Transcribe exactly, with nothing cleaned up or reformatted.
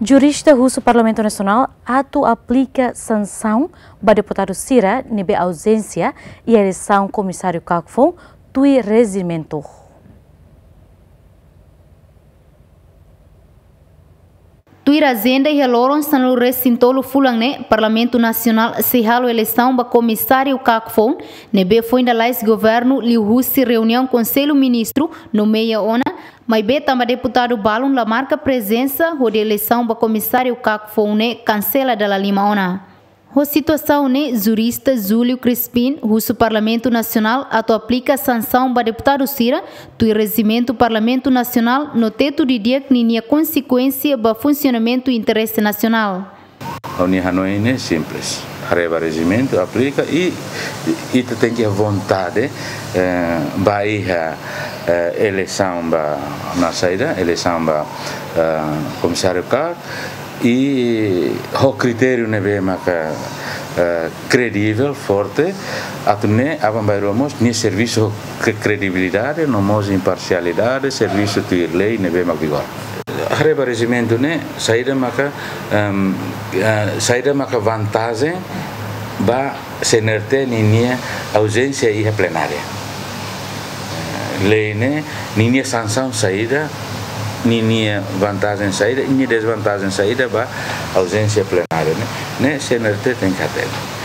Jurista husu Parlamentu Nasionál atu aplika sansaun ba deputadu sira ne'ebé auzénsia iha eleisaun komisáriu KAK foun tuir rejimentu. Tuir ajenda, iha loron sanulu-resin-tolu fulan ne'e, Parlamentu Nasionál sei halo eleisaun ba komisáriu KAK foun, ne'ebé foin lalais governu liuhusi reuniaun Konsellu Ministru nomeia ona, maibé tanba deputadu balun la marka prezensa, hodi eleisaun ba komisáriu KAK foun ne'e kansela dala lima ona. Ho situasaun ne'e, jurista Júlio Crispim husu Parlamentu Nasionál atu aplika sansaun ba deputadu sira tuir rejimentu Parlamentu Nasionál no tetu didi'ak ninia konsekuénsia ba funsionamentu interese nasionál. Ha'u-nia hanoin ne'e simples. Haree ba rejimentu, aplika i, i ita tenke iha vontade, eh, ba iha, eh, eleisaun ba, na saida, eleisaun ba, eh, komisáriu KAK, i ho kritériu ne'ebé maka, eh, kredivel, forte, atu nune'e aban-bainrua mós nia servisu ho kre-, kredibilidade, no mós imparsialidade, servisu tuir lei ne'ebé mak vigora. Haree ba rejimentu ne'e, saida maka, em, eh, saida maka vantajen ba CNRT ninia auzénsia iha plenária. Eh, lei ne'e, ninia sansaun saida, ninia vantajen saida, ninia dezvantajen saida ba auzénsia plenária ne'e, ne'e CNRT tenke hatene.